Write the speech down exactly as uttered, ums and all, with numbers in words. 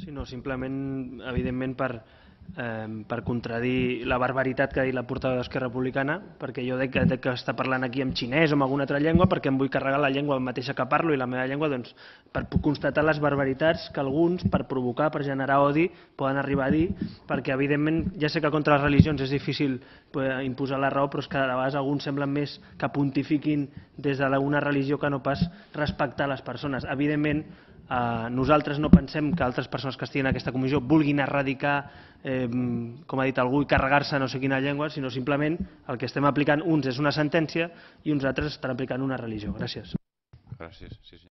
Sí, no, simplement, evidentment, per, eh, per contradir la barbaritat que ha dit la portaveu d'Esquerra Republicana, perquè jo dec, dec que està parlant aquí en xinès o en alguna altra llengua, perquè em vull carregar la llengua mateixa que parlo i la meva llengua, doncs, per constatar les barbaritats que alguns, per provocar, per generar odi, poden arribar a dir, perquè, evidentment, ja sé que contra les religions és difícil imposar la raó, però és que a vegades alguns semblen més que pontifiquin des d'una religió que no pas respectar les persones. Evidentment, Uh, nosaltres no pensem que altres persones que estiguin en aquesta comissió vulguin erradicar, eh, com ha dit algú, i carregar-se no sé quina llengua, sinó simplement el que estem aplicant uns és una sentència i uns altres estan aplicant una religió. Gràcies. Gràcies, sí, sí.